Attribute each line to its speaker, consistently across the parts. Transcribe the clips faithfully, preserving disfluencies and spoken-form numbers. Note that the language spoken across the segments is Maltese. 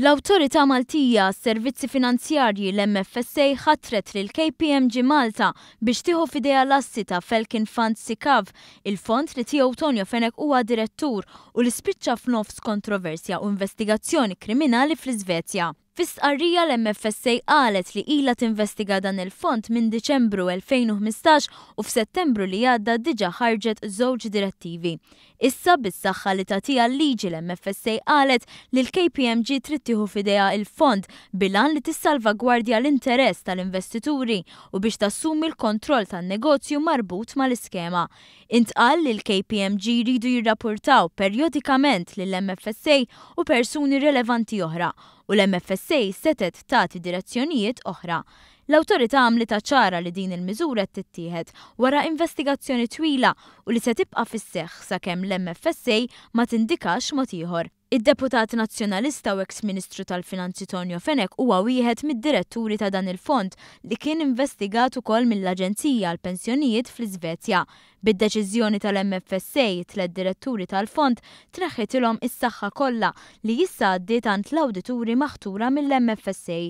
Speaker 1: L-Awtorità Maltija għas-Servizzi Finanzjarji, l-M F S A, ħatret lil K P M G Malta biex tieħu f'idejha l-assi ta' Falcon Fund SICAV, il-fond li tiegħu Tonio Fenech huwa direttur u li spiċċa f'nofs kontroversja u investigazzjoni kriminali fl-Iżvezja. Fi stqarrija, l-M F S A qalet li ilha tinvestiga dan il-fond minn Diċembru elfejn u ħmistax u f'Settembru li għadda diġà ħarġet żewġ direttivi. Issa, bis-saħħa li tagħtiha l-liġi, l-M F S A qalet li l-K P M G trid tieħu f'idejha il-fond bil-għan li tissalvagwardja l-interess tal-investituri u biex tassumi l-kontroll tan-negozju marbut mal-iskema. Intqal li l-K P M G jridu jirrapportaw perjodikament lill-M F S A u persuni relevanti oħra u l-M F S A setgħet tagħti direzzjonijiet oħra. L-awtorità għamlitha ċara li din il-miżura qed tittieħed wara investigazzjoni twila u li se tibqa' fis-seħħ sakemm l-M F S A ma tindikax mod ieħor. Id-deputat nazzjonalista u ex-ministru tal-Finanzi Tonio Fenech huwa wieħed mid-diretturi ta' dan il-fond li kien investigat ukoll mill-Aġenzija għal Pensjonijiet fl-Iżvezja. Bid-deċiżjoni tal-M F S A, tliet diretturi tal-fond tneħħitilhom is-saħħa kollha, li issa għaddiet għand l-awdituri maħtura mill-M F S A.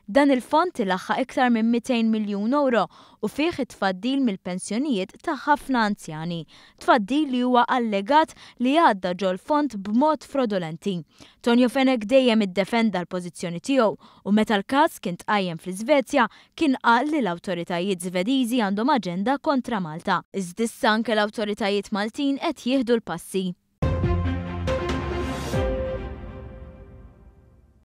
Speaker 1: Dan il-fond ilaħħaq iktar minn mitejn miljun euro u fih it-tfaddil mill-pensjonijiet ta' ħafna anzjani. Tfaddil li huwa allegat li għadda ġol-fond b'mod frodolenti. Tonio Fenech dejjem iddefenda l-pożizzjoni tiegħu u meta l-każ kien tqajjem fl-Iżvezja kien qal li l-awtoritajiet Svediżi għandhom aġenda kontra Malta. Iżda issa anke l-awtoritajiet Maltin qed jieħdu l-passi.